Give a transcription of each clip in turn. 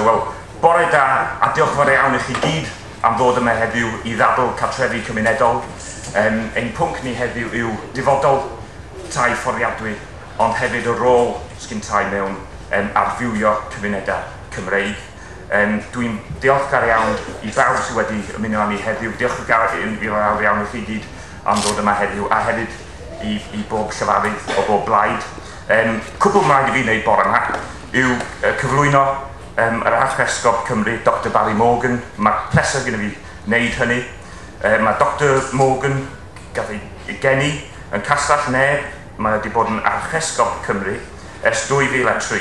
Wel, bore da a diolch yn fawr iawn i chi gyd am ddod yma heddiw i ddadl cartrefi cymunedol. Ein pwnc ni heddiw yw dyfodol tai fforddiadwy, ond hefyd y rôl sgyn tai mewn adfywio cymunedau Cymreig. Dwi'n diolchgar iawn i bawb sydd wedi ymuno â ni heddiw. Diolch yn fawr iawn i chi gyd am ddod yma heddiw, a hefyd i bob llefarydd o bob blaid. Cwbl mae'n rhaid i fi wneud bore yma yw cyflwyno yr Archesgob Cymru, Dr Barry Morgan. Mae pleser gyda fi wneud hynny. Mae Dr Morgan gath ei geni yn Castell Nedd. Mae wedi bod yn Archesgob Cymru ers 2003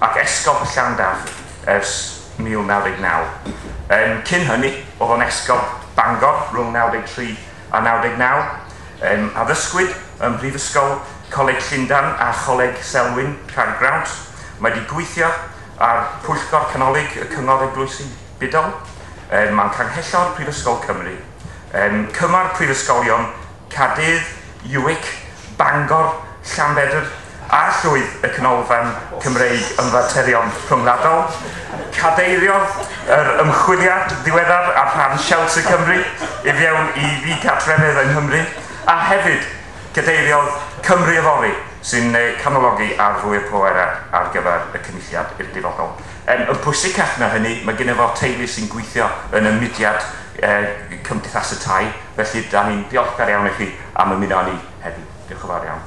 ac Esgob Llandaf ers 1999. Cyn hynny, oedd o'n Esgob Bangor rhwng 93 a 99. Addysgwyd ym Mhrifysgol Coleg Llundain a Choleg Selwyn Caergrawnt. Mae wedi gweithio ar Pwyllgor Canolig y Cyngor Eglwysi Budol. Mae'n canghellor Prifysgol Cymru. Cymar Prifysgolion Caerdydd, UWIC, Bangor, Llanbedr a llwydd y Canolfan Cymreig Ymfaterion Rhyngwladol. Cadeiriodd yr ymchwiliad ddiweddar ar rhan Shelter Cymru i fewn i ddigartrefedd yng Nghymru, a hefyd cadeiriodd Cymru Yfory, sy'n canologi ar fwy o pwerau ar gyfer y cynulliad i'r dyfodol. Yn pwysicach na hynny, mae gennym fo teulu sy'n gweithio yn y mudiad Cymdeithas y Tai, felly da ni'n diolchgar iawn i chi am ymuno â ni heddiw. Diolch yn fawr iawn.